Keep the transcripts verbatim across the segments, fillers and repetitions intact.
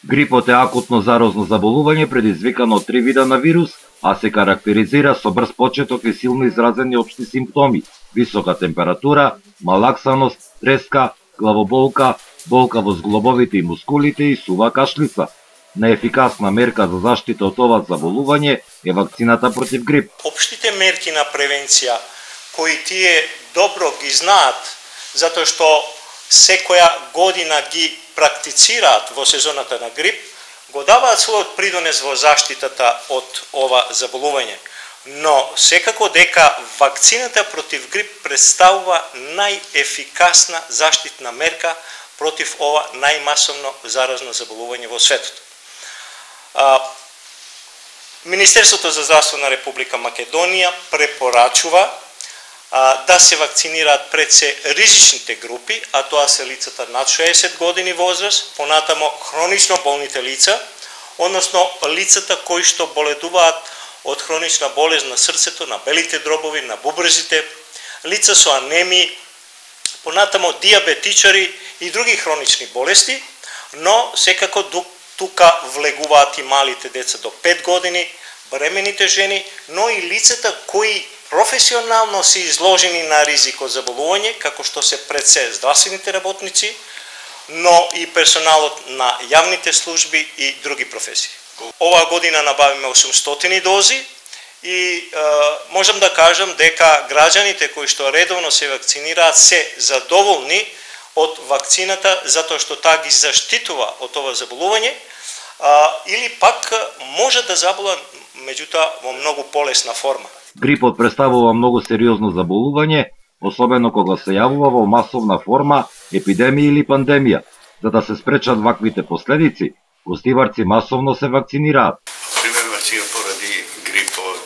Грипот е акутно зарозно заболување предизвикано од три вида на вирус, а се карактеризира со брз почеток и силно изразени општи симптоми: висока температура, малаксаност, треска, главоболка, болка во зглобовите и мускулите и сува кашлица. Најефикасна мерка за заштита од ова заболување е вакцината против грип. Општите мерки на превенција кои тие добро ги знаат, затоа што секоја година ги практицираат во сезоната на грип, го даваат својот придонес во заштитата од ова заболување. Но секако дека вакцината против грип представува најефикасна заштитна мерка против ова најмасовно заразно заболување во светот. Министерството за здравство на Република Македонија препорачува да се вакцинираат пред се ризичните групи, а тоа се лицата над шеесет години возраст, понатамо хронично болните лица, односно лицата кои што боледуваат од хронична болест на срцето, на белите дробови, на бубрезите, лица со анемии, понатамо диабетичари и други хронични болести, но секако тука влегуваат и малите деца до пет години, бремените жени, но и лицата кои професионално се изложени на ризик од заболување, како што се пред се здравствените работници, но и персоналот на јавните служби и други професии. Оваа година набавиме осумстотини дози и е, можам да кажам дека граѓаните кои што редовно се вакцинираат се задоволни од вакцината затоа што таа ги заштитува од ова заболување, а, или пак може да забола меѓутоа во многу полесна форма. Грипот представува многу сериозно заболување, особено кога се јавува во масовна форма, епидемија или пандемија. За да се спречат ваквите последици, гостиварци масовно се вакцинираат. Примерно сега поради грипот,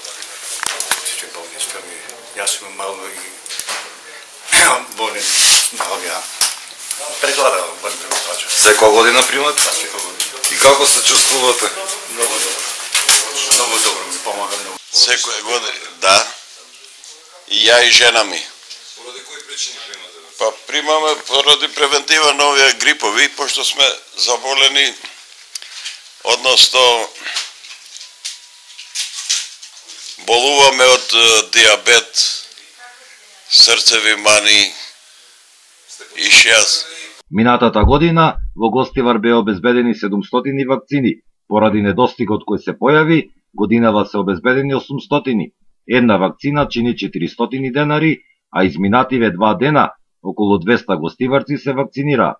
че болничка ми, јас сум мало и болен, мало ја прегладавам бързо плача. Секоја година примате? Да, секоја година. И како се чувствувате? Много добро. Много добро ми помага много. Секоја година, да. И ја и жена ми. Поради кои причини примате? Па примаме поради превентива на овие грипови, пошто сме заболени, односно болуваме од диабет, срцеви мани и шијас. Минатата година во Гостивар беа обезбедени седумстотини вакцини. Поради недостигот кој се појави, годинава се обезбедени осумстотини. Една вакцина чини четиристотини денари, а изминативе два дена околу двеста гостиварци се вакцинираа.